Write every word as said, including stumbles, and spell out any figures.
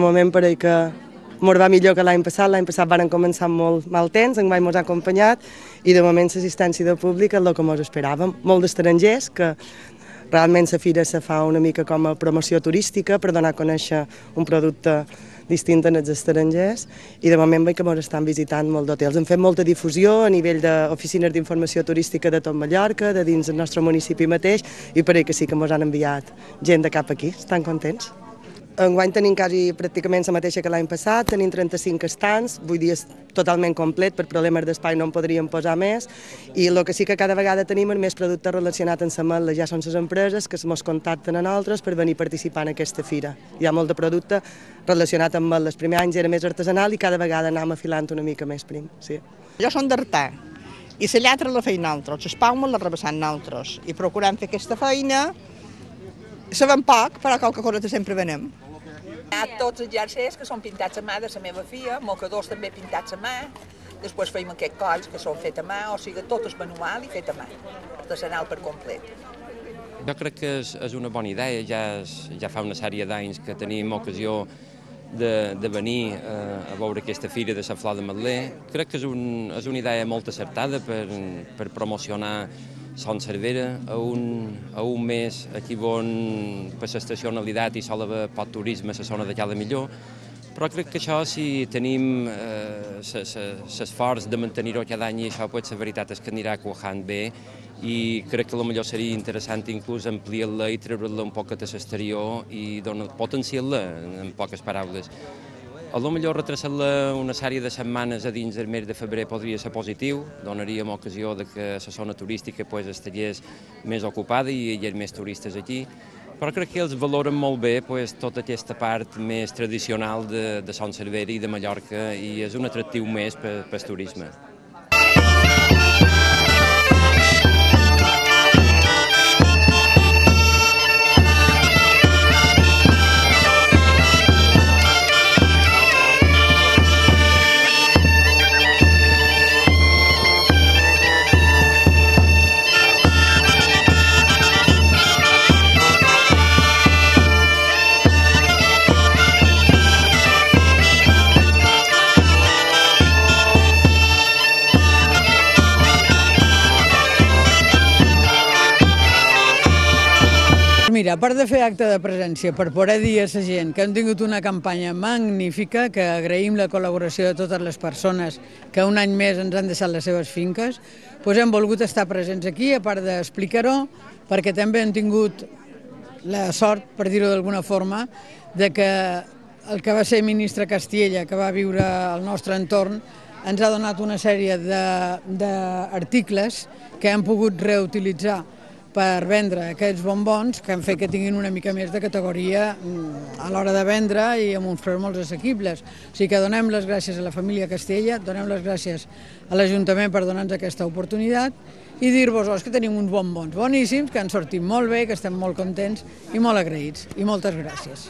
moment pareix que mos va millor que l'any passat. L'any passat van començar amb molt mal temps, enguany mos ha acompanyat i de moment l'assistència de públic és el que mos esperàvem. Molt d'estrangers, que realment la fira se fa una mica com a promoció turística per donar a conèixer un producte distint als estrangers i de moment veig que ens estan visitant molt d'hotels. Hem fet molta difusió a nivell d'oficines d'informació turística de tot Mallorca, de dins del nostre municipi mateix, i pareix que sí que ens han enviat gent de cap aquí, estan contents. Enguany tenim quasi pràcticament la mateixa que l'any passat, tenim trenta-cinc estants, vull dir és totalment complet, per problemes d'espai no en podríem posar més, i el que sí que cada vegada tenim és més productes relacionats amb l'ametla, ja són les empreses que ens contacten a nosaltres per venir a participar en aquesta fira. Hi ha molt de producte relacionat amb ametles, els primers anys era més artesanal i cada vegada anem afilant una mica més prim. Sí. Jo som d'Artà i la lletra la feim nosaltres, les palmes les rebassam nosaltres i procurem fer aquesta feina, sabem poc, però qualque cosa sempre venem. Hi ha tots els jerseis que són pintats a mà de la meva filla, mocadors també pintats a mà, després feim aquests colls que són fets a mà, o sigui, tot és manual i fet a mà, artesanal per complet. Jo crec que és, és una bona idea, ja, és, ja fa una sèrie d'anys que tenim ocasió de, de venir eh, a veure aquesta fira de la flor d'ametler. Crec que és, un, és una idea molt acertada per, per promocionar Son Cervera, a un, a un mes aquí on per l'estacionalitat i sol haver poc turisme a la zona de Cala Millor, però crec que això, si tenim l'esforç eh, de mantenir-ho cada any, i això, pues, la veritat és que anirà quajant bé i crec que potser seria interessant inclús ampliar-la i treure-la un poc a l'exterior i potenciar-la, en poques paraules. A lo millor retrasar-la una sèrie de setmanes a dins del mes de febrer podria ser positiu, donaríem ocasió de que la zona turística pues, estigués més ocupada i hi hagués més turistes aquí, però crec que ells valoren molt bé pues, tota aquesta part més tradicional de, de Son Cervera i de Mallorca i és un atractiu més per, per el turisme. Mira, a part de fer acte de presència, per poder dir a la gent que hem tingut una campanya magnífica, que agraïm la col·laboració de totes les persones que un any més ens han deixat les seves finques, doncs hem volgut estar presents aquí, a part d'explicar-ho, perquè també hem tingut la sort, per dir-ho d'alguna forma, de que el que va ser ministre Castella, que va viure al nostre entorn, ens ha donat una sèrie d'articles que hem pogut reutilitzar per vendre aquests bombons que han fet que tinguin una mica més de categoria a l'hora de vendre i amb uns preus molt assequibles. O sigui que donem les gràcies a la família Castella, donem les gràcies a l'Ajuntament per donar-nos aquesta oportunitat i dir-vos que tenim uns bombons boníssims, que han sortit molt bé, que estem molt contents i molt agraïts. I moltes gràcies.